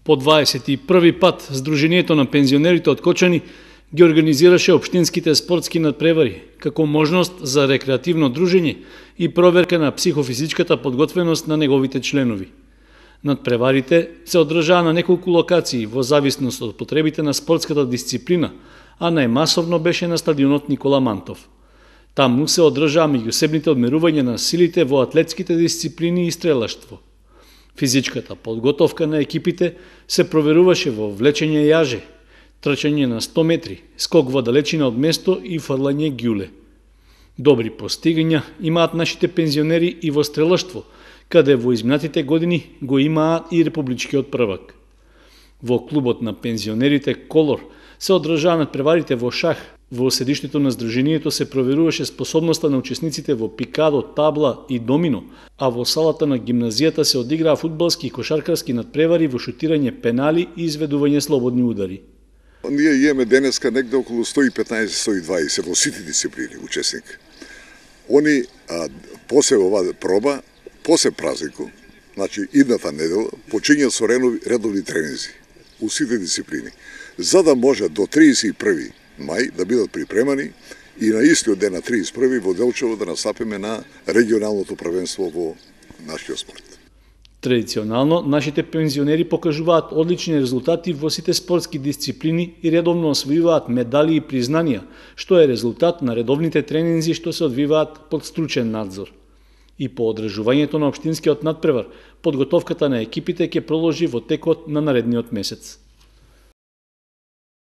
По 21 пат Сдруженијето на пензионерите од Кочани ги организираше општинските спортски надпревари како можност за рекреативно дружење и проверка на психофизичката подготвеност на неговите членови. Надпреварите се одржаа на неколку локации во зависност од потребите на спортската дисциплина, а најмасовно беше на стадионот Никола Мантов. Таму се одржаа меѓусебните одмерувања на силите во атлетските дисциплини и стрелаштво. Физичката подготовка на екипите се проверуваше во влечење јаже, трчање на 100 метри, скок во далечина од место и фрлање ѓуле. Добри постигања имаат нашите пензионери и во стрелаштво, каде во изминатите години го имаат и републичкиот првак. Во клубот на пензионерите Колор се одржаа надпреварите во шах. Во седиштето на Сдруженијето се проверуваше способноста на учесниците во пикадо, табла и домино, а во салата на гимназијата се одиграа фудбалски и кошаркарски надпревари во шутирање пенали и изведување слободни удари. Ние имаме денеска негде околу 115-120 во сите дисциплини учесник. Они после оваа проба, после празникот, значи идната недела, почињаат со редовни тренинзи у сите дисциплини, за да може до 31 мај да бидат припремани и на истиот ден на 31 во Делчево да настапиме на регионалното првенство во нашиот спорт. Традиционално, нашите пензионери покажуваат одлични резултати во сите спортски дисциплини и редовно освојуваат медали и признанија, што е резултат на редовните тренинзи што се одвиваат под стручен надзор. И по одржувањето на општинскиот надпревар, подготовката на екипите ќе продолжи во текот на наредниот месец.